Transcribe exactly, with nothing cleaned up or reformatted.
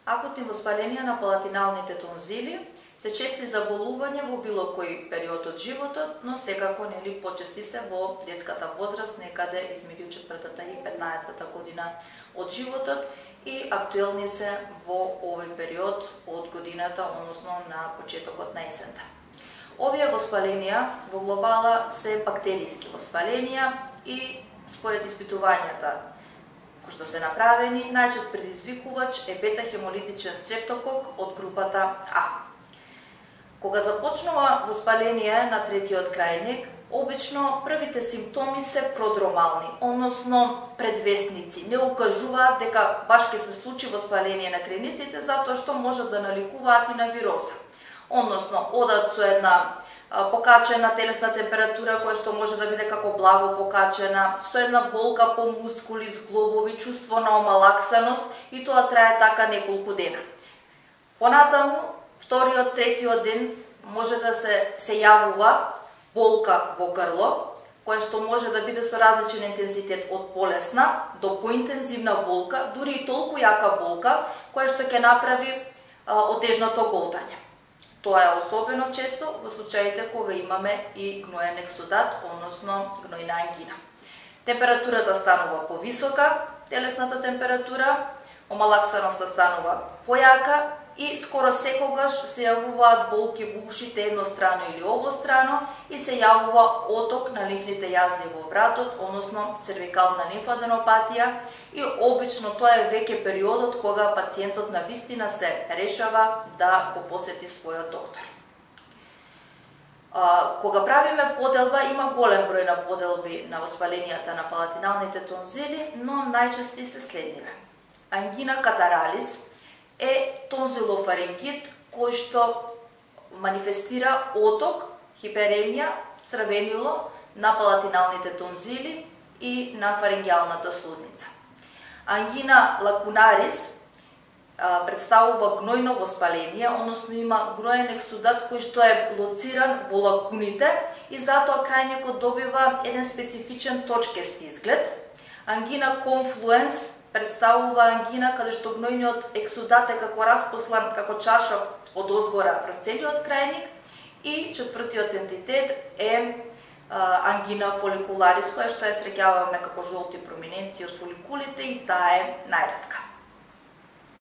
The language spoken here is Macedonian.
Акутни воспаленија на палатиналните тонзили се чести заболувања во било кој период од животот, но секако нели почести се во детската возраст, некаде измеѓу четвртата и петнаесеттата година од животот и актуелни се во овој период од годината, односно на почетокот на есента. Овие воспаленија во глобала се бактериски воспаленија и според испитувањата кои што се направени, најчест предизвикувач е бета-хемолитичен стрептокок од групата А. Кога започнува воспаление на третиот крајник, обично првите симптоми се продромални, односно предвестници. Не укажуваат дека баш ќе се случи воспаление на крениците, затоа што можат да наликуваат и на вироза. Односно, одат со една покачена телесна температура, која што може да биде како благо покачена, со една болка по мускули, зглобови, чувство на омалаксаност и тоа трае така неколку дена. Понатаму, вториот, третиот ден може да се, се јавува болка во грло, која што може да биде со различен интензитет од полесна до поинтензивна болка, дури и толку јака болка, која што ќе направи а, отежното голтање. Тоа е особено често во случаите кога имаме и гноен ексудат, односно гнојна ангина. Температурата станува повисока, телесната температура, омалаксаноста станува појака и скоро секогаш се јавуваат болки во ушите еднострано или обострано и се јавува оток на лимфните јазни во вратот, односно цервикална лимфаденопатија и обично тоа е веќе периодот кога пациентот на вистина се решава да го посети својот доктор. А, кога правиме поделба, има голем број на поделби на воспаленијата на палатиналните тонзили, но најчести се следниве. Ангина катаралис е тонзилофарингит кој што манифестира оток, хиперемија, црвенило на палатиналните тонзили и на фарингиалната слузница. Ангина лакунарис а, представува гнојно воспаление, односно има гноен ексудат кој што е лоциран во лакуните и затоа крајникот добива еден специфичен точкест изглед. Ангина конфлуенс представува ангина каде што гнојниот ексудат е како распослан како чаршав од озгора врз целиот крајник и четвртиот ентитет е а, ангина фоликуларис, која што ја среќаваме како жолти проминенции од фоликулите и таа е најретка.